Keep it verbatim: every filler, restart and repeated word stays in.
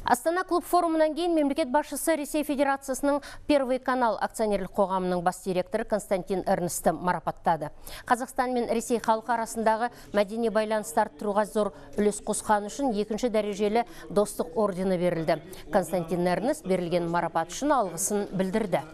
Астана клуб форумынан кейін мемлекет басшысы Ресей Федерациясының Первый канал акционерлік қоғамының бас директоры Константин Эрнстті марапаттады. Қазақстан мен Ресей халқы арасындағы мәдени байланыстар арттыруға зор үлес қосқаны үшін екінші дәрежелі достық ордені берілді. Константин Эрнст берілген марапат үшін алғысын білдірді.